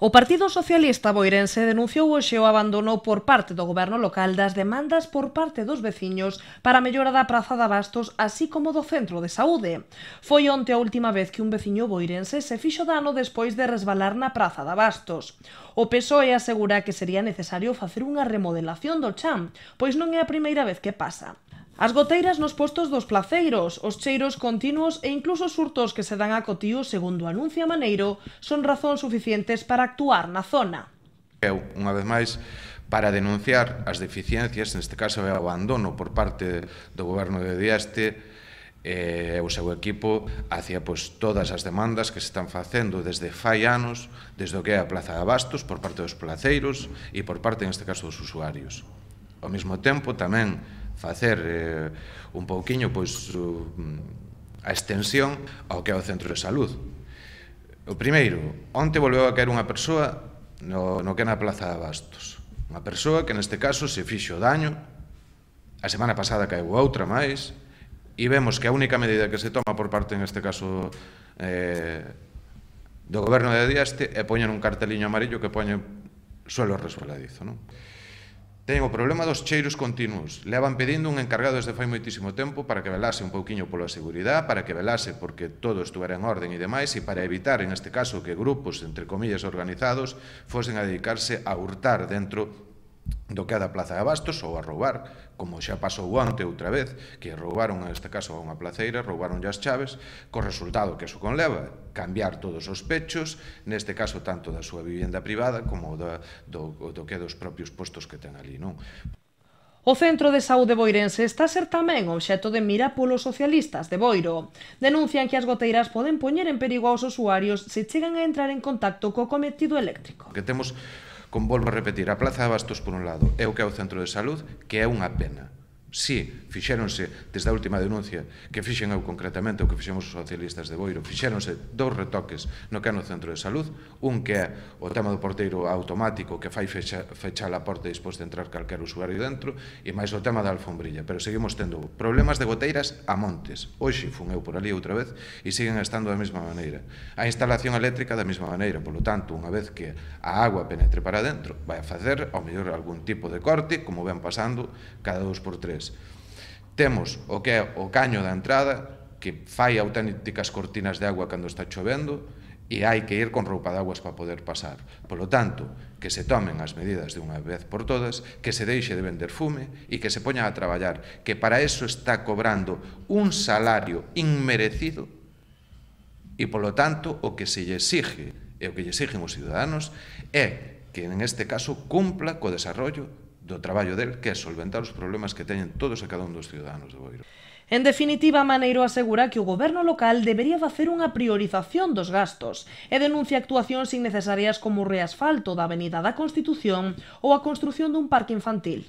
O Partido Socialista boirense denunciou hoxe o abandono por parte do goberno local das demandas por parte dos veciños para a mellora da Praza de Abastos, así como do centro de saúde. Foi onte a última vez que un veciño boirense se fixo dano despois de resbalar na Praza de Abastos. O PSOE asegura que sería necesario facer unha remodelación do chan, pois non é a primeira vez que pasa. As goteiras nos postos dos placeiros, os cheiros continuos e incluso os furtos que se dan a cotío, segundo anuncia Maneiro, son razóns suficientes para actuar na zona. Eu, unha vez máis, para denunciar as deficiencias, neste caso é o abandono por parte do goberno de Dieste e o seu equipo hacia todas as demandas que se están facendo desde fai anos, desde o que é a Plaza de Abastos, por parte dos placeiros e por parte, neste caso, dos usuarios. Ao mesmo tempo, tamén facer un pouquiño a extensión ao que é o centro de salud. O primeiro, onte volveu a caer unha persoa no que é na Plaza de Abastos. Unha persoa que neste caso se fixo daño, a semana pasada caeu outra máis, e vemos que a única medida que se toma por parte, neste caso, do goberno de Dieste é poñer un carteliño amarillo que poñe suelo resbaladizo, non? Ten o problema dos cheiros continuos. Levan pedindo un encargado desde fai moitísimo tempo para que velase un pouquiño pola seguridade, para que velase porque todo estuvera en orden e demais, e para evitar, en este caso, que grupos, entre comillas, organizados, fosen a dedicarse a hurtar dentro do que é da Plaza de Abastos ou a roubar, como xa pasou onte outra vez, que roubaron, en este caso, a unha placeira, roubaron as chaves, co resultado que eso conleva, cambiar todos os pechos, neste caso tanto da súa vivienda privada como do que dos propios postos que ten ali, non? O Centro de Saúde boirense está a ser tamén obxecto de mira polos socialistas de Boiro. Denuncian que as goteiras poden poñer en perigo aos usuarios se chegan a entrar en contacto co cometido eléctrico. Que temos, como volvo a repetir, a Plaza de Abastos por un lado é o que é o centro de salud, que é unha pena. Si, fixéronse, desde a última denuncia, que fixen eu concretamente, o que fixemos os socialistas de Boiro, fixéronse dous retoques no que é no centro de salud, un que é o tema do porteiro automático que fai fechar a porta despois de entrar calquer usuario dentro, e máis o tema da alfombrilla, pero seguimos tendo problemas de goteiras a montes. Hoxe fun eu por ali outra vez e siguen estando da mesma maneira. A instalación eléctrica da mesma maneira, polo tanto, unha vez que a agua penetre para dentro, vai a facer, ao mellor, algún tipo de corte, como ven pasando cada 2x3. Temos o que é o caño da entrada, que fai auténticas cortinas de agua cando está chovendo, e hai que ir con roupa de aguas para poder pasar. Polo tanto, que se tomen as medidas de unha vez por todas, que se deixe de vender fume e que se poña a traballar, que para eso está cobrando un salario inmerecido e, polo tanto, o que se lle exige e o que lle exigen os ciudadanos é que, en este caso, cumpla co desarrollo do traballo del, que é solventar os problemas que teñen todos e cada un dos ciudadanos de Boiro. En definitiva, Maneiro asegura que o goberno local debería facer unha priorización dos gastos e denuncia actuacións innecesarias como o reasfalto da Avenida da Constitución ou a construción dun parque infantil.